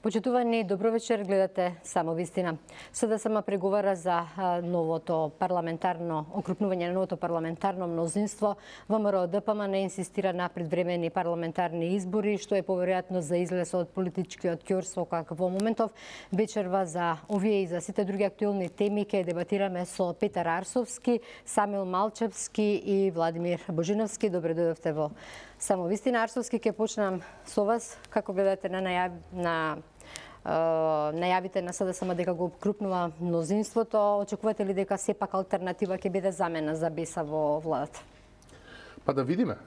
Почитувани, добро вечер, гледате Само вистина. СДСМ преговара за новото парламентарно окрупнување на новото парламентарно мнозинство. ВМРО ДПМН инсистира на предвремени парламентарни избори, што е поверојатно за излез од политичкиот ќорс во моментов. Вечерва за овие и за сите други актуелни теми ќе дебатираме со Петар Арсовски, Самил Малчевски и Владимир Божиновски. Добре дојдовте во Само вистина. Арсовски, ќе почнам со вас. Како гледате на најавите на СДСМ дека го окрупнува мнозинството? Очекувате ли дека сепак алтернатива ќе биде замена за БЕСА во владата? Па да видиме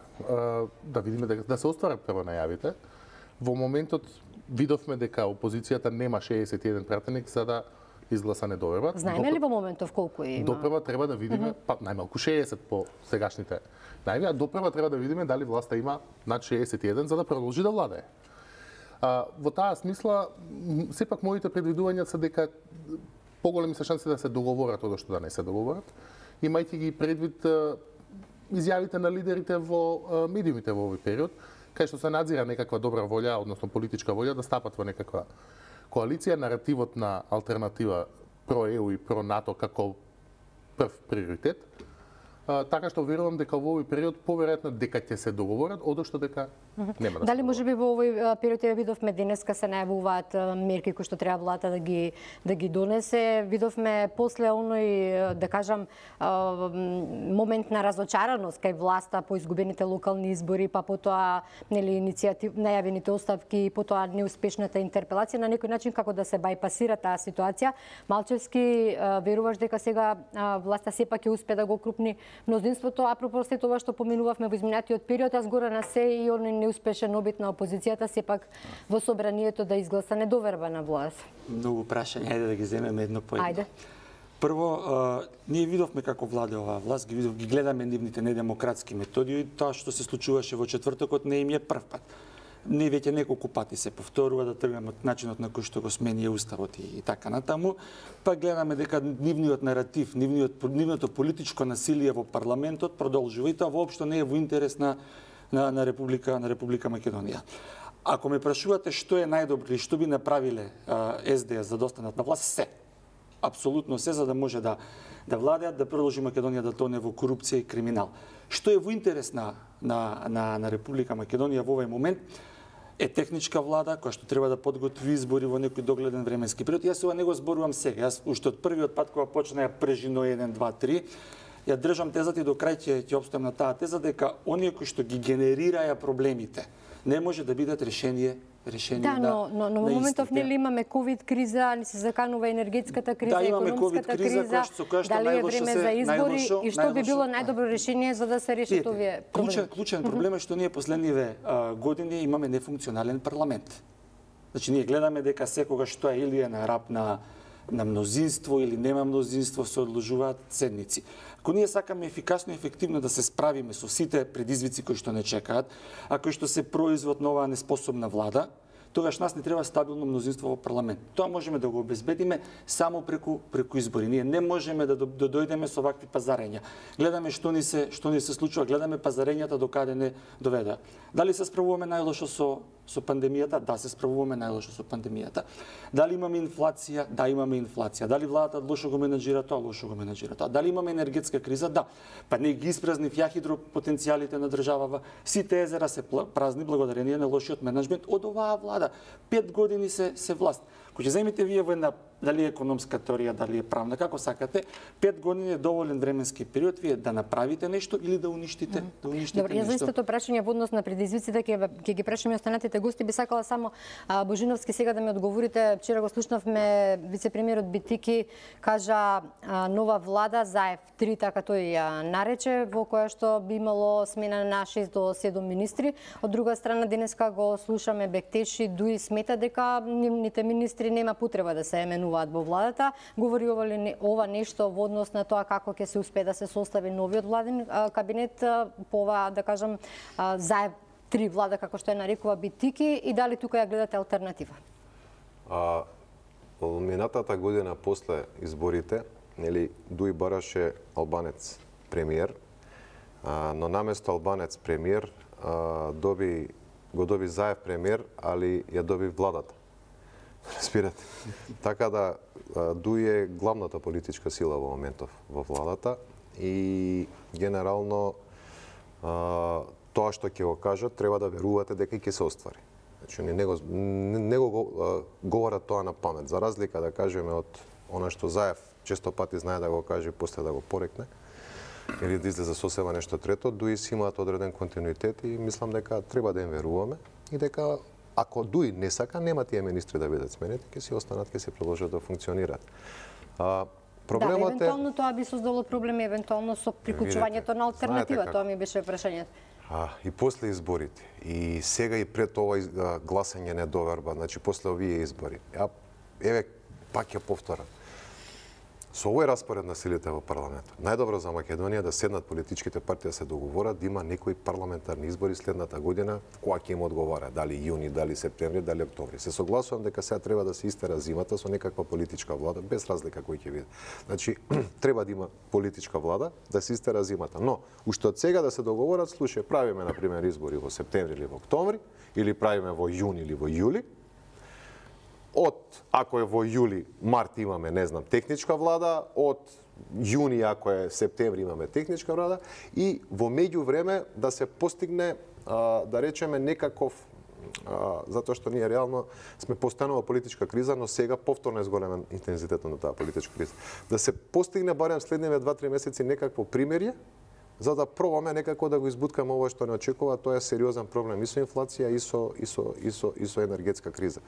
дека да се остварат прво најавите. Во моментот видовме дека опозицијата нема 61 пратеник за да изгласа недоверба. Знаеме ли во моментов колку има? Допрева треба да видиме, па најмалку 60 по сегашните најави, а допрева треба да видиме дали власта има над 61 за да продолжи да владее. Во таа смисла, сепак моите предвидувања се дека поголеми се шанси да се договорат одошто да не се договорат, имајќи ги предвид изјавите на лидерите во медиумите во овој период, кај што се надзира некаква добра волја, односно политичка волја да стапат во некаква коалиција, наративот на алтернатива про ЕУ и про НАТО како прв приоритет. Така што верувам дека во овој период поверојатно дека ќе се договорат, одошто дека нема да се. Дали можеби во овој период ја видовме денеска се најавуваат мерки кои што треба владата да ги донесе. Видовме после оној, да кажам, момент на разочараност кај власта по изгубените локални избори, па потоа најавените оставки, потоа неуспешната интерпелација, на некој начин како да се бајпасира таа ситуација. Малчевски, веруваш дека сега власта сепак ќе успе да го окрупни мнозинството, апропо се тоа што поминувавме во изминатиот период, а згора на се и оној неуспешен обид на опозицијата сепак во собранието да изгласа недоверба на власт? Многу прашања, ајде да ги земеме едно по едно. Ајде. Прво, ние видовме како владе оваа власт, ги гледаме нивните недемократски методи и тоа што се случуваше во четвртокот не им е прв пат. Не веќе неколку пати се повторува да тргаме од начинот на кој што го смени уставот и така натаму, па гледаме дека нивниот наратив, нивното политичко насилие во парламентот продолжува и тоа воопшто не е во интерес на Република Македонија. Ако ме прашувате што е најдобро или што би направиле СДС за да останат на власт, се. Апсолутно се, за да може да владеат, да продолжи Македонија да тоне во корупција и криминал. Што е во интерес на Република Македонија во овој момент е техничка влада која што треба да подготви избори во некој догледен временски период. Јас ова не го зборувам сега. Јас уште од првиот пат кога почна ја прежино 1, 2, 3, ја држам тезата и до крај ќе опстојам на таа теза дека оние кои што ги генерираја проблемите не може да бидат решение но во моментов нели имаме ковид криза, ни се заканува енергетската криза, економската криза, дали е време за избори и што би било најдобро решение за да се решат овие проблеми? Клучен проблем е што ние последниве години имаме нефункционален парламент. Значи ние гледаме дека секогаш тоа или е на рап на мнозинство или нема мнозинство, се одложуваат седници. Ако ние сакаме ефикасно и ефективно да се справиме со сите предизвици кои што не чекаат, а кои што се производ на оваа неспособна влада, тогаш нас не треба стабилно мнозинство во парламент. Тоа можеме да го обезбедиме само преку избори. Ние не можеме да дојдеме со вакви пазарења. Гледаме што ни се случува, гледаме пазарењата до каде не доведа. Дали се справуваме најлошо со пандемијата? Да, се справуваме најлошо со пандемијата. Дали имаме инфлација? Да, имаме инфлација. Дали владата лошо го менаџира тоа? Лошо го менаџира тоа. Дали имаме енергетска криза? Да. Па не ги испразнив ја хидропотенцијалите на државава. Сите езера се празни благодарение на лошиот менаџмент од оваа влада. 5 години се власт. Кога ќе земите вие во една, дали е економска теорија, дали е правна, како сакате, 5 години е доволен временски период вие да направите нешто или да уништите, Добре, нешто. Јас за истото прашање во однос на предизвиците ќе ги прашаме останатите гости. Би сакала само Божиновски сега да ми одговорите. Вчера го слушнавме вице-премиерот Битики кажа нова влада Заев 3, така тој ја нарече, во која што би имало смена на 6 до 7 министри. Од друга страна денеска го слушаме Бектеши, Дуи смета дека нивните министри нема потреба да се именуваат во владата. Говори ова нешто во однос на тоа како ќе се успее да се состави новиот владен кабинет по ова, да кажам, Заев 3 влада, како што ја нарекува Битики, и дали тука ја гледате алтернатива? Минатата година после изборите, нели, Дуи бараше албанец премиер, но наместо албанец премиер го доби Заев премиер, али ја доби владата. Спирате. Така да, ДУИ е главната политичка сила во моментов во владата и генерално тоа што ќе го кажат треба да верувате дека ќе се оствари. Значи не го говорат тоа на памет, за разлика да кажеме од она што Заев често пати знае да го каже и после да го порекне или да излезе сосема нешто трето, ДУИ си имаат одреден континуитет и мислам дека треба да им веруваме и дека ако ДУИ не сака, нема тие министри да бидат сменети, ќе си останат, ќе се продолжат да функционираат. Проблемот да, евентуално тоа би создало проблеми, евентуално со приклучувањето на алтернатива, тоа ми беше прашањето. И после изборите, и сега и пред ова гласање недоверба, значи после овие избори. Еве, пак ќе повторам. Со овој распоред на силите во парламентот, најдобро за Македонија да седнат политичките партии да се договорат да има некои парламентарни избори следната година, која ќе им одговара, дали јуни, дали септември, дали октомври. Се согласувам дека сега треба да се истера зимата со некаква политичка влада, без разлика кој ќе биде. Значи, треба да има политичка влада да се истера зимата, но уште од сега да се договорат, слушај, правиме на пример избори во септември или во октомври, или правиме во јуни или во јули. Ако е во јули, март имаме, не знам, техничка влада, од јуни, ако е септември, имаме техничка влада и во меѓувреме да се постигне, да речеме, некаков, затоа што ние реално сме постојано во политичка криза, но сега повторно е зголемен интензитетот на таа политичка криза. Да се постигне барем следниве 2-3 месеци некакво примирие, за да пробаме некако да го избуткаме ова што не очекува, тоа е сериозен проблем и со инфлација и со енергетска криза.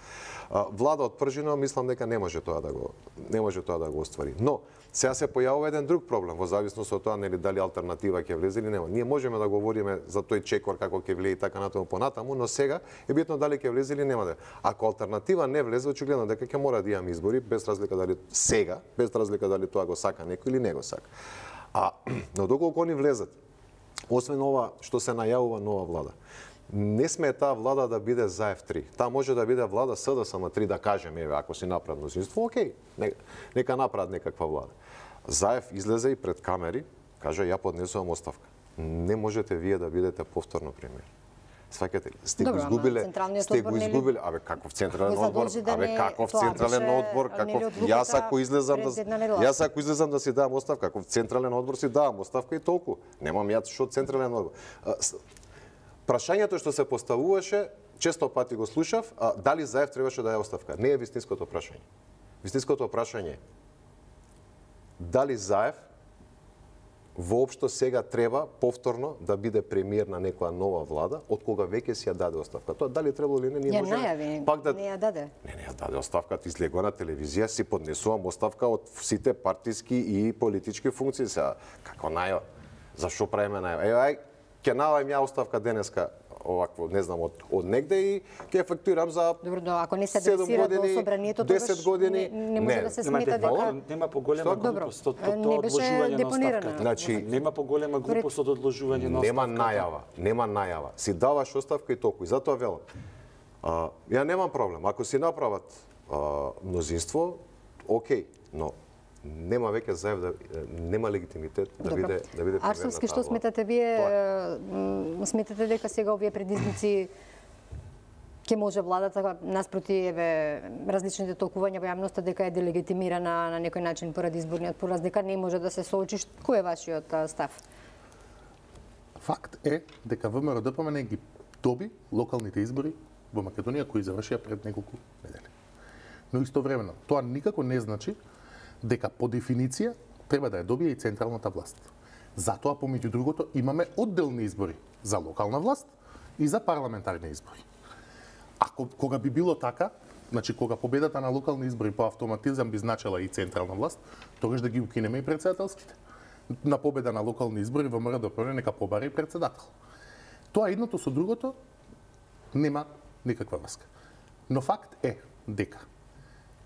Влада од пржино мислам дека не може тоа да го оствари. Но сега се појавува еден друг проблем во зависност од тоа нели дали алтернатива ќе влезе или нема. Ние можеме да говориме за тој чекор како ќе влезе и така натаму понатаму, но сега е битно дали ќе влезе или нема да. Ако алтернатива не влезе, очигледно дека ќе мора да имаме избори без разлика дали сега, без разлика дали тоа го сака некој или не го сака. Но доколку они влезат, освен ова што се најавува нова влада, не сме таа влада да биде Заев 3. Таа може да биде влада СДСМ 3, да кажеме, еве, ако си направат мнозинство, окей, нека направат некаква влада. Заев излезе и пред камери, кажа, ја поднесувам оставка. Не можете вие да бидете повторно премиер. Сваќате ли? Сте го изгубиле, абе каков централен одбор, јас ако излезам да си давам оставка, каков централен одбор си давам оставка и толку. Немам јас што централен одбор. Прашањето што се поставуваше, често пати го слушав, дали Заев требаше да даде оставка. Не е вистинското прашање. Вистинското прашање е дали Заев воопшто сега треба повторно да биде премиер на некоја нова влада, од кога веќе си ја даде оставка. Тоа дали требало или не, ние можеме пак да не ја даде. Не ја даде оставката, излегува на телевизија, си поднесувам оставка од сите партиски и политички функции. Сега како најава? Зашо правиме најава? Ај, ќе најавам ја оставка денеска овакво, не знам, од негде и ќе ефектуирам за добро, ако не се адресира до собранието, 10 години, не може да се смета дека нема поголема глупост од одложување на оставката. Значи, нема поголема глупост од одложување на оставката. Нема најава. Си даваш оставка и толку. И затоа велам. Ја немам проблем. Ако си направат мнозинство, окей, но нема веќе Заев нема легитимитет да биде премиер. Арсовски, што сметате вие? Сметате дека сега овие предизвици ќе може владата наспроти различните толкувања во јавноста дека е делегитимирана на некој начин поради изборниот пораз, дека не може да се соочи? Кој е вашиот став? Факт е дека ВМРО-ДПМН ги доби локалните избори во Македонија кои завршија пред неколку недели. Но истовремено тоа никако не значи дека по дефиниција треба да ја добие и централната власт. Затоа, помеѓу другото, имаме одделни избори за локална власт и за парламентарни избори. Ако кога би било така, значи кога победата на локални избори по автоматизам би значела и централна власт, тогаш да ги укинеме и председателските. На победа на локални избори ВМРО-ДПМН нека побара и председател. Тоа едното со другото нема никаква врска. Но факт е дека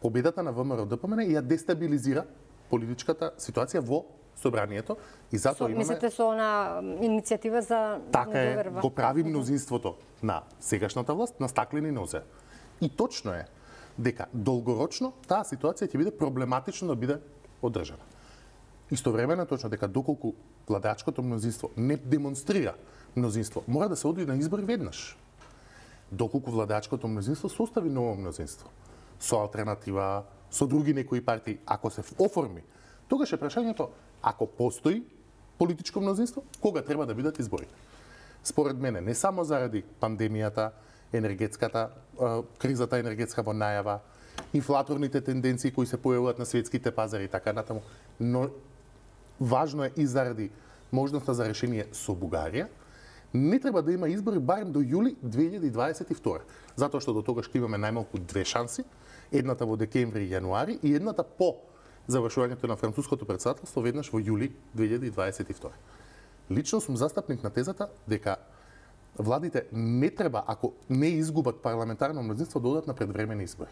победата на ВМРО-ДПМН ја дестабилизира политичката ситуација во собранието и затоа имаме... Мислите со она иницијатива за така недоверба? Го прави мнозинството на сегашната власт на стаклени нозе. И точно е дека долгорочно таа ситуација ќе биде проблематично да биде одржана. Истовремено точно дека доколку владачкото мнозинство не демонстрира мнозинство, мора да се оди на избори веднаш. Доколку владачкото мнозинство состави ново мнозинство, со алтернатива, со други некои партии, ако се оформи, тогаш е прашањето, ако постои политичко мнозинство, кога треба да бидат изборите? Според мене, не само заради пандемијата, енергетската кризата енергетска во најава, инфлаторните тенденции кои се појавуваат на светските пазари и така натаму, но важно е и заради можноста за решение со Бугарија, не треба да има избори барем до јули 2022. Затоа што до тогаш ќе имаме најмалку две шанси, едната во декември и јануари и едната по завршувањето на француското претседателство веднаш во јули 2022. Лично сум застапник на тезата дека владите не треба, ако не изгубат парламентарно мнозинство, да одат на предвремени избори.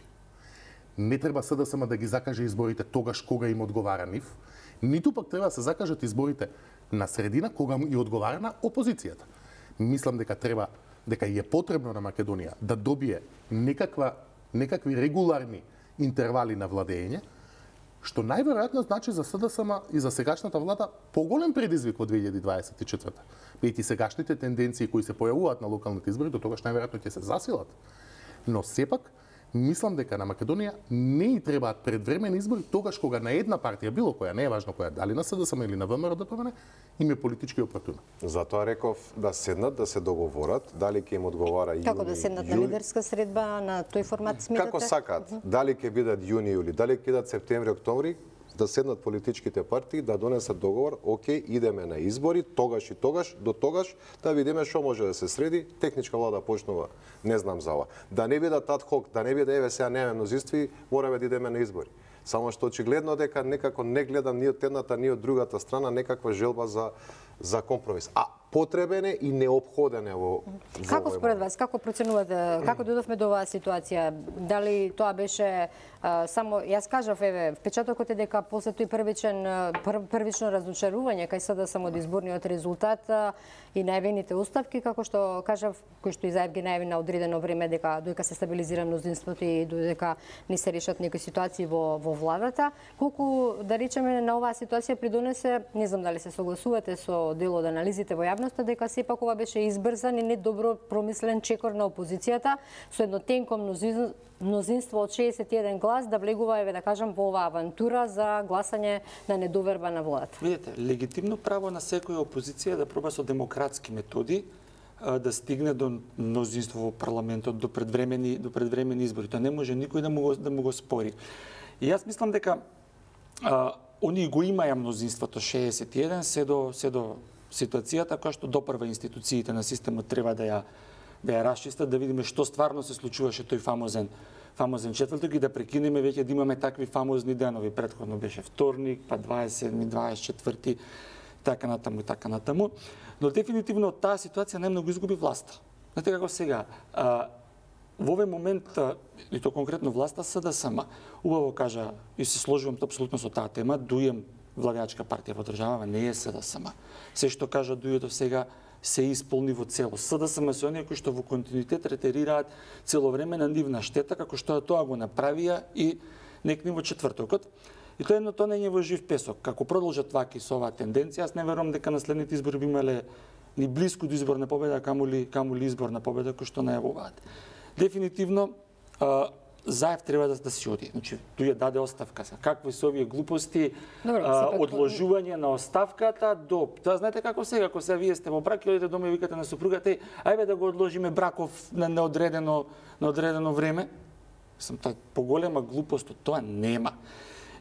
Не треба СДСМ да ги закаже изборите тогаш кога им одговара нив, ниту пак треба да се закажат изборите на средина кога им одговара на опозицијата. Мислам дека е потребно на Македонија да добие некакви регуларни интервали на владење, што најверојатно значи за СДСМ и за сегашната влада поголем предизвик во 2024. Бидејќи сегашните тенденции кои се појавуваат на локалните избори до тогаш најверојатно ќе се засилат. Но сепак мислам дека на Македонија не и требаат предвремени избори тогаш кога на една партија, било која, не е важно која, дали на СДСМ или на ВМРО-ДПМН, им е политички опортуно. Затоа реков да седнат, да се договорат, дали ќе им одговара јуни. Како да седнат на лидерска средба на тој формат смитате? Како сакаат, дали ќе бидат јуни, јули, дали ќе бидат септември, октомври, да седнат политичките партии, да донесат договор, окей, идеме на избори, тогаш и тогаш, до тогаш, да видиме што може да се среди, техничка влада почнува, не знам за ова. Да не бидат адхок, да не биде еве сега немаме мнозинство, мораме да идеме на избори. Само што очигледно дека некако не гледам ни од едната, ни од другата страна некаква желба за компромис. А потребен е и неопходен е во Како според вас, како проценувате, како дојдовме до оваа ситуација? Дали тоа беше само, јас кажав, еве, впечатокот е дека после тој првично разочарување кај СДСМ од изборниот резултат и најавените оставки, како што кажав, кој што изјави ги најави на одредено време дека доека се стабилизира мнозинството и додека не се решат некои ситуации во владата, колку да речеме на оваа ситуација придонесе, не знам дали се согласувате со дел од анализите во јавноста, дека сепак ова беше избрзан и недобро промислен чекор на опозицијата со едно тенко мнозинство од 61 глас да влегува, еве да кажам, во оваа авантура за гласање на недоверба на владата. Видете, легитимно право на секоја опозиција да проба со демократски методи да стигне до мнозинство во парламентот, до предвремени избори. Тоа не може никој да му го спори. И јас мислам дека они го имаја мнозинството 61 се до ситуацијата која што допрва институциите на системот треба да ја расчистат, да видиме што стварно се случуваше тој фамозен четврток и да прекинеме веќе да имаме такви фамозни денови. Претходно беше вторник, па 27, 24, така натаму. Но дефинитивно од таа ситуација најмногу изгуби власта. Знаете како сега, во овој момент, и то конкретно власта СДСМ, убаво кажа, и се сложувам апсолутно со таа тема, дујем владеачка партија во државава не е СДСМ. Се што кажа дује до сега се исполни во целост. СДСМ се оние кои што во континуитет ретерираат цело време на нивна штета, како што тоа го направија и некни во четвртокот. И тоа едно тонење во жив песок. Како продолжат ваки со оваа тенденција, јас не верувам дека на следните избори би имале ни блиску до изборна победа, камули изборна победа кој што најавуваат. Дефинитивно Заев треба да си оди. Значи, тој даде оставка. Какви се овие глупости, одложување на оставката до... Тоа знаете како сега, ако сега вие сте во брак и одите дома и викате на супругата, ајде да го одложиме браков на неодредено време. Тоа поголема глупост од тоа нема.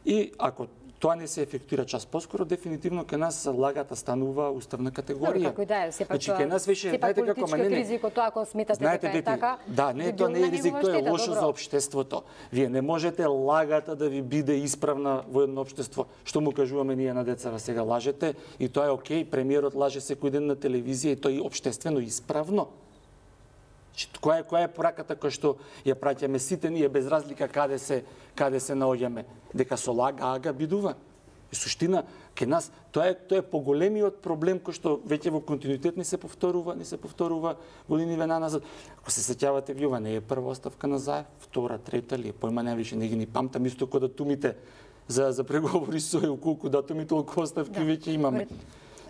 И ако тоа не се ефектуира час поскоро, дефинитивно ке нас лагата станува уставна категорија. Како и да е, сепак ке нас више, знаете како политичкиот ризик од тоа, ако сметате дека е така. Да, не, тоа не е ризик, тоа е лошо за општеството. Вие не можете лагата да ви биде исправна во едно општество. Што му кажуваме ние на децава сега, лажете и тоа е окей, премиерот лаже секој ден на телевизија и тоа е општествено исправно. Која е пораката која што ја праќаме сите ние без разлика каде се наоѓаме, дека со лага бидува. И суштина ке нас тоа е поголемиот проблем кој што веќе во континуитет не се повторува годиниве назад. Ако се сеќавате ви, ова не е прва оставка на Заев, втора, трета ли, појма највише не ги ни памтам, исто како датумите за преговори со ЕУ, колку датуми толку оставки веќе имаме.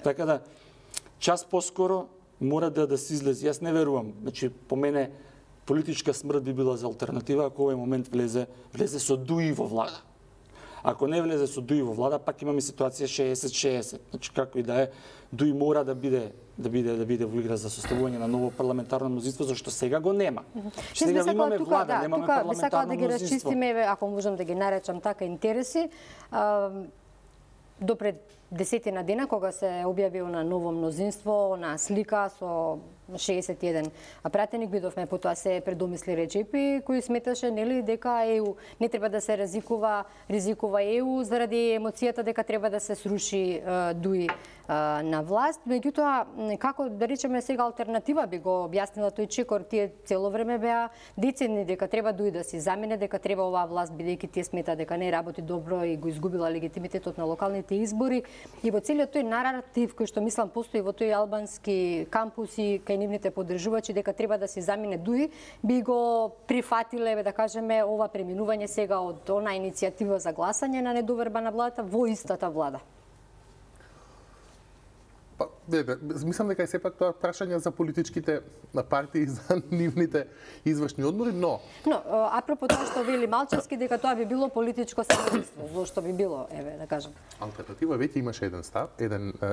Така да час поскоро мора да се излезе. Јас не верувам. Значи, по мене, политичка смрт би била за алтернатива ако овој момент влезе со Дуи во влада. Ако не влезе со Дуи во влада, пак имаме ситуација 60-60. Значи како и да е, Дуи мора да биде во игра за составување на ново парламентарно мнозинство, зашто сега го нема. Сега имаме влада, немаме парламентарно мнозинство. Сакала да ги расчистиме, ако можам да ги наречам така, интереси. До пред 10 дена, кога се објавил на ново мнозинство, на слика со 61 пратеник, видовме потоа се предомисли Реджепи, кој сметаше нели дека ЕУ не треба да се ризикува ЕУ заради емоцијата дека треба да се сруши Дуи на власт. Меѓутоа, како да речеме сега алтернатива би го објаснила тој чекор, тие цело време беа децидни дека треба Дуи да се замене, дека треба оваа власт бидејќи тие смета дека не работи добро и го изгубила легитимитетот на локалните избори. И во целиот тој наратив кој што мислам постои во тој албански кампус и кај нивните поддржувачи дека треба да се замине Дуи, би го прифатиле, да кажеме, ова преминување сега од она иницијатива за гласање на недоверба на владата во истата влада. Па, мислам дека е сепак тоа прашање за политичките партии, за нивните извршни одбори, но апропо тоа што вели Малчевски дека тоа би било политичко самоубиство, зошто би било, да кажам. Алтернатива веќе имаше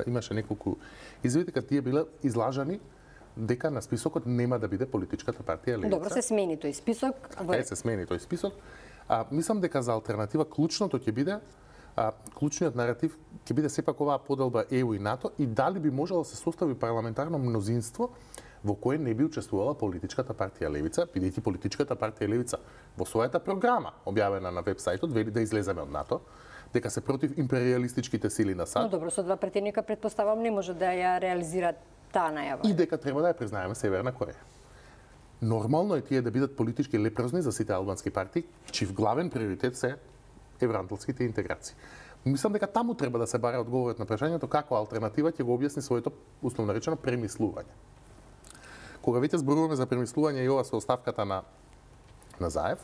имаше неколку изводи дека тие биле излажани дека на списокот нема да биде политичката партија Левица. Добро, се смени тој список. Се смени тој список. Мислам дека за алтернатива клучното ќе биде клучниот наратив ќе биде сепак оваа поделба ЕУ и НАТО и дали би можело да се состави парламентарно мнозинство во кое не би учествувала политичката партија Левица, бидејќи политичката партија Левица во својата програма објавена на веб-сајтот вели да излеземе од НАТО, дека се против империалистичките сили на САД. Но добро, со два претеника претпоставам не може да ја реализираат таа најава. И дека треба да ја признаеме Северна Кореја. Нормално е тие да бидат политички лепрозни за сите албански партии, чив главен приоритет се евроатлантските интеграции. Мислам дека таму треба да се баре одговорот на прашањето како алтернатива ќе го објасни своето условно речено премислување. Кога веќе зборуваме за премислување и ова со оставката на Заев,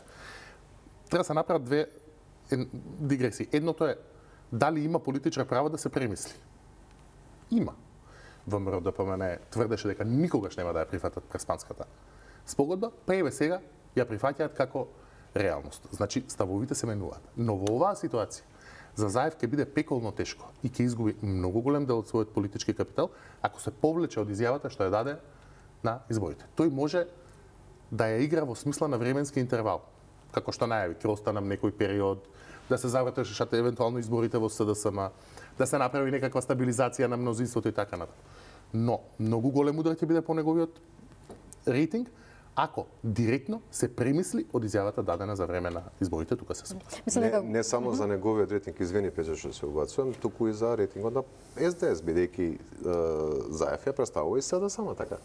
треба да се направат две дигресии. Едното е дали има политичар право да се премисли. Има. ВМРО ДПМН тврдеше дека никогаш нема да ја прифатат Преспанската спогодба, па еве сега ја прифаќаат како реалност. Значи, ставовите се менуваат. Но во оваа ситуација, за Заев ќе биде пеколно тешко и ќе изгуби многу голем дел од својот политички капитал ако се повлече од изјавата што ја даде на изборите. Тој може да ја игра во смисла на временски интервал, како што најави, ќе останам некој период, да се завртешат евентуално изборите во СДСМ, да се направи некаква стабилизација на мнозинството и така натаму. Но многу голем удар ќе биде по неговиот рейтинг ако директно се премисли од изјавата дадена за време на изборите, тука се согласувам. Не само за неговиот рейтинг, извини Пејче што се убацувам, туку и за рейтингот на СДС, бидејќи Заев ја представува и СДСМ, така,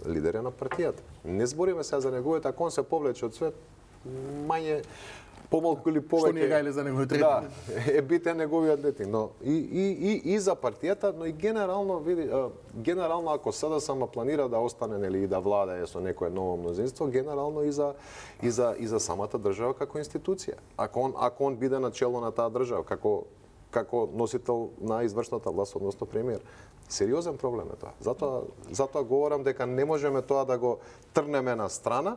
лидер на партијата. Не збориме сега за неговиот, ако он се повлече од свет, мање помалку или повеќе. Што ни е гајле за неговиот рейтинг? Да, е битен неговиот рейтинг, но и за партијата, но и генерално ако СДСМ планира да остане нели и да владае со некое ново мнозинство, генерално и за самата држава како институција. Ако он биде на чело на таа држава како носител на извршната власт, односно премиер. Сериозен проблем е тоа. Затоа говорам дека не можеме тоа да го трнеме на страна,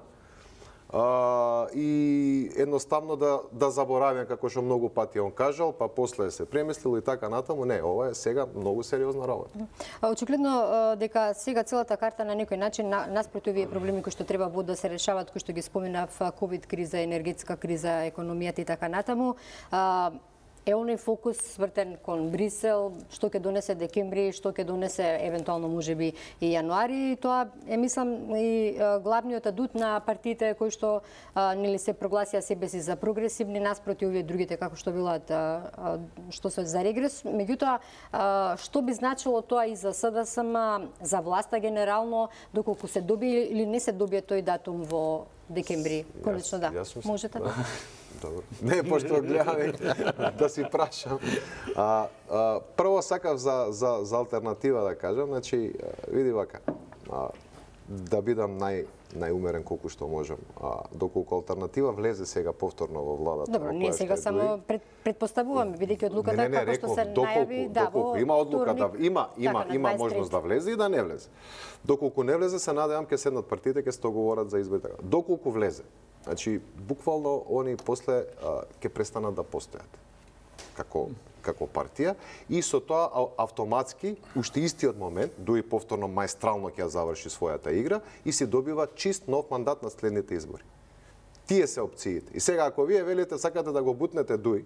и едноставно да забораваме како што многу пати он кажал, па после се премислил и така натаму. Не, ова е сега многу сериозна работа. Очигледно дека сега целата карта на некој начин наспроти овие проблеми кои што треба да се решаваат, кои што ги споменав, ковид криза, енергетска криза, економијата и така натаму, е оној фокус свртен кон Брисел, што ќе донесе декември, што ќе донесе евентуално можеби и јануари. Тоа е, мислам, и главниот адут на партиите кои што нели се прогласија себе си за прогресивни наспроти овие другите како што билат што се за регрес. Меѓутоа, што би значило тоа и за СДСМ, за власта генерално, доколку се добие или не се добие тој датум во декември? Конечно да. Можете да. Добро. Не, пошто гледаме да си прашам. Прво сакав за алтернатива да кажам, значи види вака. да бидам најумерен колку што можам. Доколку алтернатива влезе сега повторно во владата. Добро, ние сега само предпоставуваме, бидејќи одлуката како што се најави, доколку има одлука да има можност да влезе и да не влезе. Доколку не влезе, се надевам ќе седнат партиите, ќе се договорат за избори. Доколку влезе, значи буквално они после ќе престанат да постојат како партија и со тоа автоматски уште истиот момент, дури повторно маестрално ќе заврши својата игра и се добива чист нов мандат на следните избори. Тие се опциите. И сега ако вие велите сакате да го бутнете Дуј,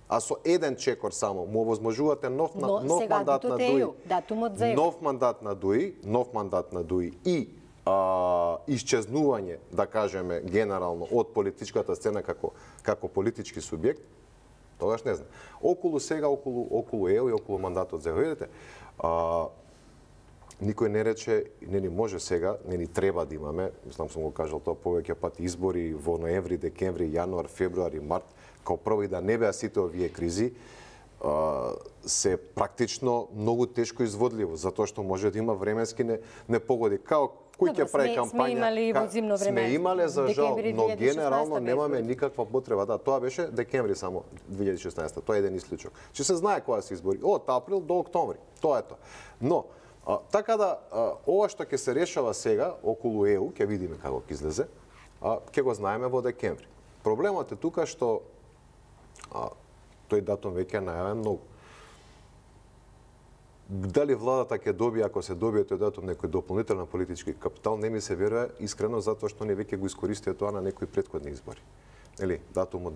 а со еден чекор само му овозможувате нов мандат на Дуј. Нов мандат на Дуј и исчезнување, да кажеме, генерално од политичката сцена како политички субјект, тогаш не знам. Околу ЕУ и околу мандатот за видите, никој не рече, не ни може сега, не ни треба да имаме, мислам сум го кажал тоа повеќе пати, избори во ноември, декември, јануар, февруари, март, као прво и да не беа сите овие кризи, се практично многу тешко изводливо, затоа што може да има временски непогоди. Као кој ќе прави кампања, сме имале за жал, но генерално немаме никаква потреба. Да, тоа беше декември само 2016, тоа е еден исклучок. Че се знае кога се избори, од април до октомври, тоа е тоа. Но, така да, ова што ќе се решава сега околу ЕУ, ќе видиме како ќе излезе, ќе го знаеме во декември. Проблемот е тука што тој датум веќе е најавен многу. Дали владата ќе добие, ако се добие тој датум, некој дополнителен политички капитал, не ми се верува искрено, затоа што не веќе го искористија тоа на некои претходни избори. Нели, датумот.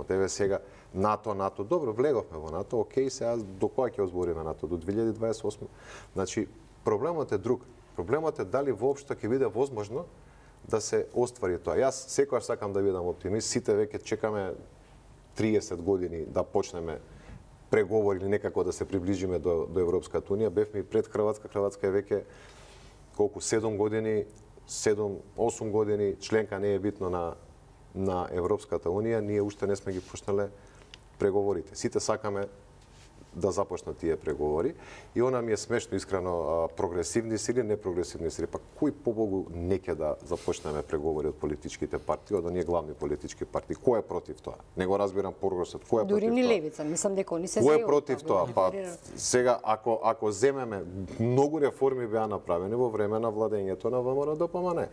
Еве сега НАТО, добро, влеговме во НАТО, окей, сега до кога ќе озбориме НАТО? До 2028. Значи, проблемот е друг. Проблемот е дали воопшто ќе биде возможно да се оствари тоа. Јас секогаш сакам да бидам оптимист, сите веќе чекаме 30 години да почнеме преговори или некако да се приближиме до Европската унија. Бевме и пред Хрватска. Хрватска е веќе колку 7 години, 7-8 години членка не е битно на Европската унија. Ние уште не сме ги почнале преговорите. Сите сакаме да започнат тие преговори и она ми е смешно искрено, прогресивни сили, непрогресивни сили. Па кој побогу не ќе да започнеме преговори од политичките партии, од оние главни политички партии? Кој е против тоа? Не го разбирам прогресот. Кој е против тоа? Дури ни левица, мислам дека они се Кој е против тоа? Па сега ако земеме, многу реформи беа направени во време на владењето на ВМРО-ДПМН.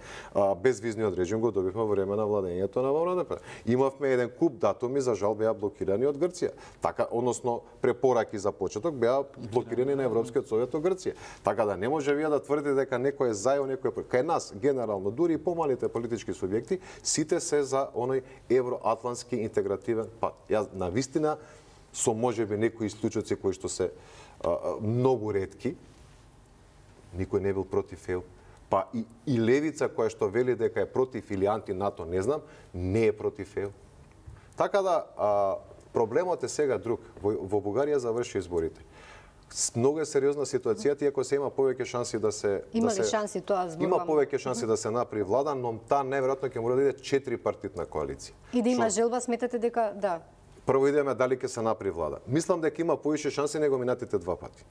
Безвизниот режим го добивме во време на владењето на ВМРО-ДПМН. Имавме еден куп датуми, за жал беа блокирани од Грција. Така, односно препораки за почеток беа блокирани на Европскиот совет од Грција. Така да не може вие да тврдите дека некој е за и некој е против. Кај нас генерално дури и помалите политички субјекти сите се за оној евроатлантски интегративен пат. Јас навистина со можеби некои исклучоци кои што се многу ретки, никој не бил против ЕУ. Па и левица која што вели дека е против или анти-НАТО, не знам, не е против ЕУ. Така да проблемот е сега друг. Во Бугарија заврши изборите. Многу е сериозна ситуацијата, иако се има повеќе шанси да се Има ли шанси тоа зборувам? Има повеќе шанси да се направи влада, но таа најверојатно ќе мора да иде 4-партитна коалиција. И да има желба, сметате дека да. Прво идеме дали ќе се направи влада. Мислам дека има повише шанси него минатите 2 пати.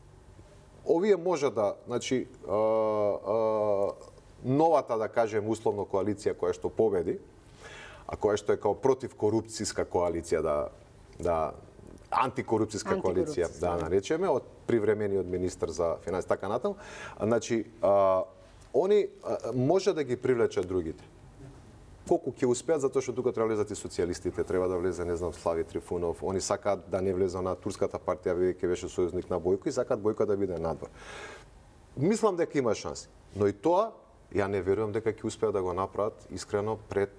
Овие може да, значи новата, да кажем, условно коалиција која што победи, а која што е као против корупцијска коалиција, антикорупцијска коалиција, да наречеме, од привремениот министер за финансии, така натаму. Значи, они може да ги привлечат другите. Колку ќе успеат, затоа што тука треба влезат и социјалистите, треба да влезе, не знам, Слави Трифунов, они сакаат да не влезе на турската партија, бидејќи беше сојузник на Бојко, и сакаат Бојко да биде надвор. Мислам дека има шанси, но и тоа, ја не верувам дека ќе успеат да го направат искрено пред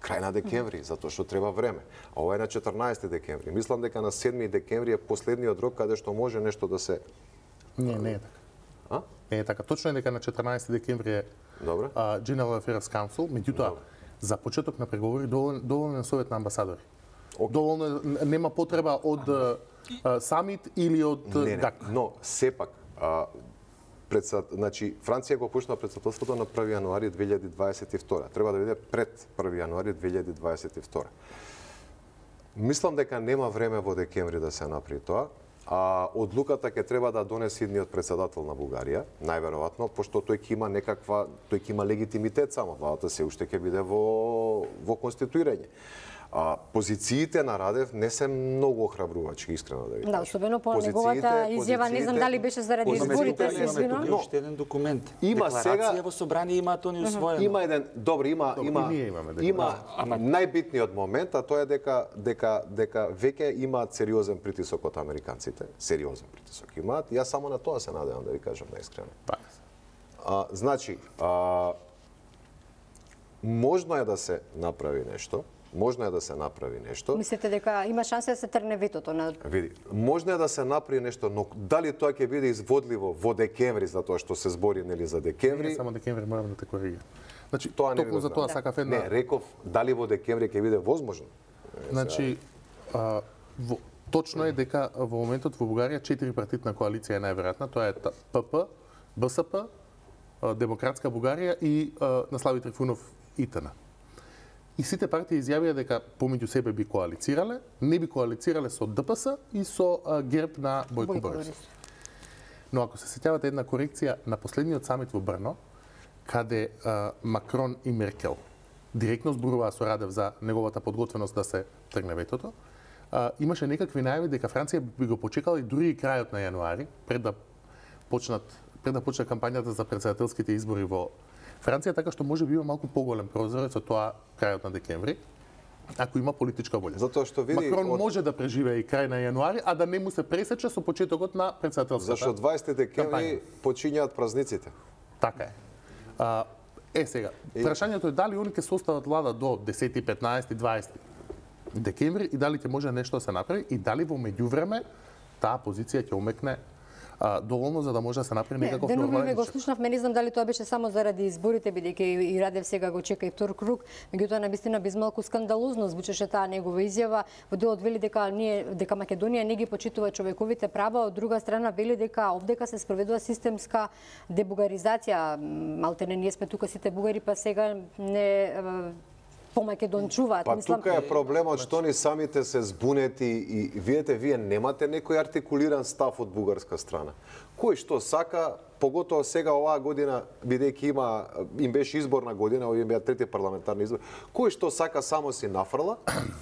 крај на декември, затоа што треба време. А ова е на 14 декември. Мислам дека на 7 декември е последниот рок каде што може нешто да се... Не е така. Не е така. Точно е дека на 14 декември е General Affairs Council, меѓутоа, за почеток на преговори доволен е совет на амбасадори. Доволно нема потреба од самит или од... Не, но сепак, значи, Франција го почна претседателството на 1 јануари 2022. Треба да биде пред 1 јануари 2022. Мислам дека нема време во декември да се направи тоа, одлуката ќе треба да донесе идниот председател на Бугарија, најверојатно, пошто тој ќе има легитимитет само, владата се уште ќе биде во конституирање. Позициите на Радев не се многу охрабрувачки, искрено да ви кажам. Да, особено по неговата изјава, не знам дали беше заради изборите, се извинувам. Имаме уште еден документ. Има Декларација сега во собрание имаат они усвоено. Има еден, има најбитниот момент, а тоа е дека веќе имаат сериозен притисок од американците, сериозен притисок имаат. Јас само на тоа се надевам да ви кажам наискрено. Значи, можно е да се направи нешто. Мислите дека има шанса да се тргне ветото на... Види, можно е да се направи нешто, но дали тоа ќе биде изводливо во декември, затоа што се збори нели за декември? Не само декември, морам да те коригирам. Значи, тоа не токму за тоа сакав една... Не, реков дали во декември ќе биде возможно. Значи, точно е дека во моментот во Бугарија 4-партитна коалиција е најверојатна, тоа е ПП, БСП, Демократска Бугарија и Наслави Трифунов ИТН. И сите партии изјавија дека помеѓу себе би коалицирале, не би коалицирале со ДПС и со ГЕРБ на Бојко Борисов. Но ако се сеќавате една корекција на последниот самит во Брно, каде Макрон и Меркел директно зборуваа со Радев за неговата подготвеност да се тргне ветото, имаше некакви најави дека Франција би го почекала и дури и крајот на јануари, пред да почне кампањата за претседателските избори во Франција, така што може би има малку поголем прозорец од тоа крајот на декември, ако има политичка волја. Затоа што види Макрон може да преживее и крај на јануари, а да не му се пресече со почетокот на претседателската. Зашто 20 декември почињаат празниците. Така е. Сега, прашањето е дали они ќе состават влада до 10, 15, 20 декември и дали ќе може нешто да се направи и дали во меѓувреме таа позиција ќе умекне доволно за да може да се направи некаков нормален. Деневи го слушнавме, не знам дали тоа беше само заради изборите, бидејќи и Радев сега го чека и втор круг, меѓутоа навистина без малку скандалозно звучеше таа негова изјава. Во делот вели дека Македонија не ги почитува човековите права, од друга страна вели дека овдека се спроведува системска дебугаризација. Малтене ние сме тука сите бугари, па сега не помакедончуваат. Па тука е проблемот што ни самите се збунети и вие немате некој артикулиран став од бугарска страна. Кој што сака, поготово сега оваа година, бидејќи им беше изборна година, овие беа трети парламентарни избори, кој што сака само си нафрла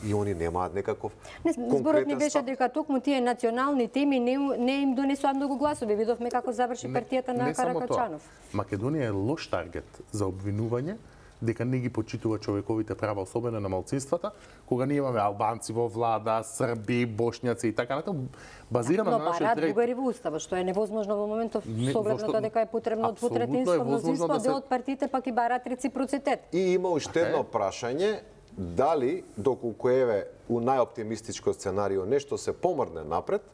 и они немаат некаков конкретен став. Зборот ни беше дека токму тие национални теми не им донесоа многу гласови. Видовме како заврши партијата на Каракачанов. Македонија е лош таргет за обвинување дека не ги почитува човековите права, особено на малцинствата, кога ние имаме албанци во влада, срби, бошњаци и така натаму, базирано на нашиот ред. Но бугари во устава, што е невозможно во моментов со оглед на тоа дека е потребно двотретинско мнозинство, дел од партиите пак и бараат реципроцитет. И има уште едно прашање, дали доколку еве у најоптимистичко сценарио нешто се помрне напред,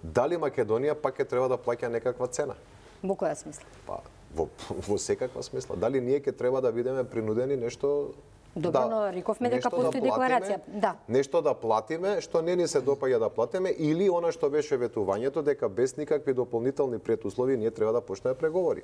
дали Македонија пак ќе треба да плаќа некаква цена? Во која смисла? Па во секаква смисла. Дали ние ќе треба да бидеме принудени нешто Добро, но рековме дека постои декларација. Да. Нешто да платиме, што не ни се допаѓа да платиме, или она што беше ветувањето дека без никакви дополнителни предуслови ние треба да почнеме преговори.